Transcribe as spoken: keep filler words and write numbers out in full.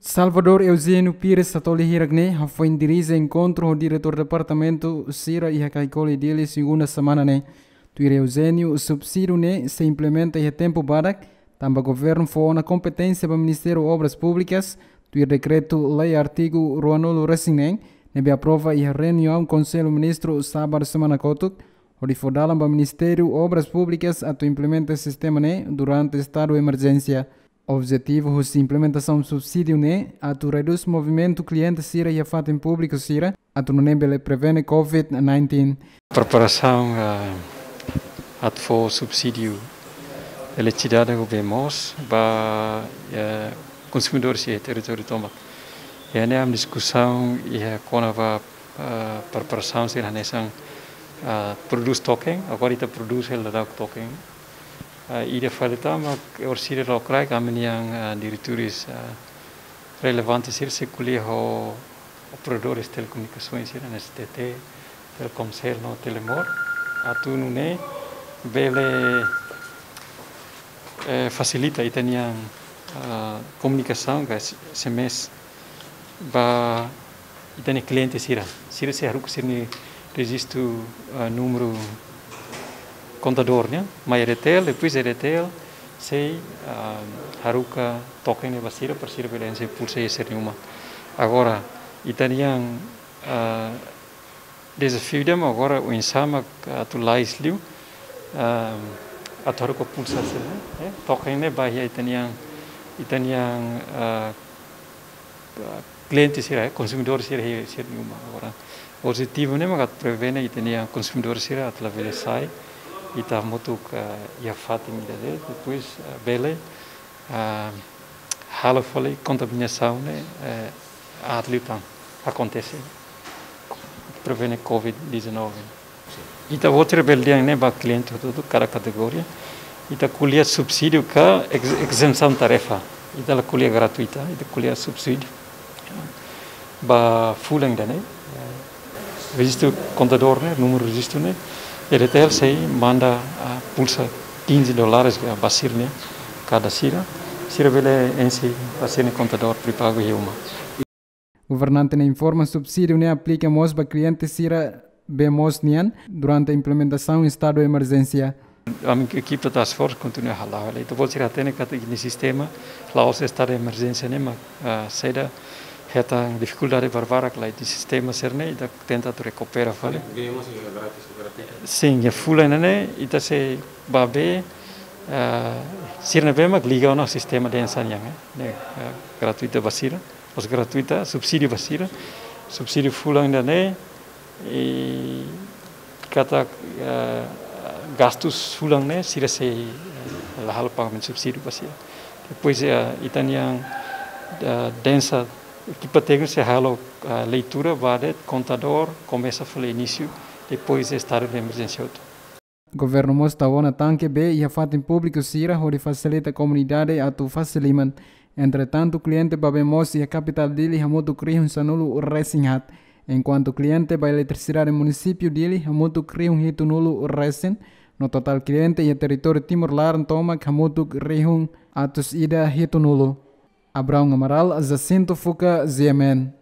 Salvador Eugênio Pires Satoli hirak ne'e hafoin dirije enkontru ho diretór departamentu sira iha Caicoli, Dili, segunda semana ne'e. Tuir Eugênio, subsídiu ne'e sei implementa iha tempu badak, tanba governu fó ona kompeténsia ba Ministériu Obras Públikas, tuir dekretu-lei artigu ruanulu resin neen, ne'ebé aprova iha reuniaun Konsellu Ministru sábadu semana kotuk, hodi fó dalan ba Ministériu Obras Públikas atu implementa sistema ne'e durante estadu emerjénsia. Objetivu husi implementasaun subsídiu ne'e atu redús movimentu kliente sira iha fatin públiku sira, atu nune'e bele prevene covid nineteen. Preparasaun, ah, atu fó subsídiu eletrisidade ho bee moos ba, eh, konsumidores iha territóriu tomak. Iha ne'e ami diskusaun iha kona-ba, ah, preparasaun sira hanesan, ah, prodús token, agora ita prodús hela daudaun token. Ah, ida fali tan mak orsida lokraik ami-nian, ah, diretores, ah, relevante sira sei ko'alia ho operadores telekomunikasaun sira, hanesan S T T, Telkomcel no Telemor, atu nune'e bele, eh, fasilita ita-nian, ah, komunikasaun ka S M S ba ita-nia kliente sira. Sira sei haruka sira-nia rejistu, ah, númeru kontadór nian, mai EDTL, depois EDTL sei, ah, haruka token ne'e ba sira, para sira bele enxe pulsa iha sira-nia uma. Agora, ita-nian, ah, dezafiu ida mak agora oinsá mak atu lais liu, ah, atu haruka pulsa sira, eh, token ne'e ba iha ita-nian, ita-nian, ah, kliente sira, eh, konsumidór sira, eh, sira-nia uma. Agora, objetivu ne'e mak atu prevene ita-nia konsumidór sira atu labele sai, ita hamutuk, eh, iha fatin ida de'it, depois, eh, bele, ah, halo fali kontaminasaun ne'e, eh, aat liután akontese. Prevene covid dezanove. Ita-boot sira bele dehan ne'e ba kliente hotu-hotu kada kategoria. Ita ko'alia subsídiu ka ex-, ezentasaun tarefa. Ita la ko'alia gratuita, ita ko'alia subsídiu. Ba fulan ida-ne'e, eh, rejistu kontadór ne'e, númeru rejistu ne'e, EDTL sei manda, ah, pulsa quinze dólares ba sira-ne'e, kada sira. Sira bele enxe ba sira-nia kontadór pré-pagu iha uma. Governante ne'e informa subsídiu ne'e aplika mós ba kliente sira bee moos nian durante implementasaun estadu emerjénsia. Ami ekipa task force kontinua hala'o hela. Ita-boot sira hatene katak ita-nia sistema la'ós estadu emerjénsia ne'e mak, ah, saida, hetan difikuldade barbarak, la, ita-nia sistema sira-ne'e ita tenta atu rekupera fali. Bee moos iha gratis, gratuita. Sin, iha fulan ne'e ita sei ba bee, ah, sira-nia bee mak liga ona sistema densa nian, eh. Ne'e, ah, gratuita ba sira. Mós gratuita, subsídiu ba sira. Subsídiu fulan ida-ne'e, i katak, eh, gastus fulan ne'e, sira sei, eh, la halo pagamentu subsídiu ba sira. Depois, eh, ita-nian, eh, densa, ekipa téknika sei halo, eh, leitura ba de'it kontadór, komesa fali inísiu, depois estadu de emerjénsia hotu. Governu mós tau ona tanke bee iha fatin públiku sira hodi fasilita komunidade atu fase liman. Entretantu, kliente ba bee moos iha kapitál Dili hamutuk rihun sanulu resin haat, enkuantu kliente ba eletrisidade munisípiu Dili hamutuk rihun hitunulu resin, no totál kliente iha territóriu Timor laran tomak hamutuk rihun atus ida hitunulu. Abraão Amaral, Jacinto Fuca, G M N.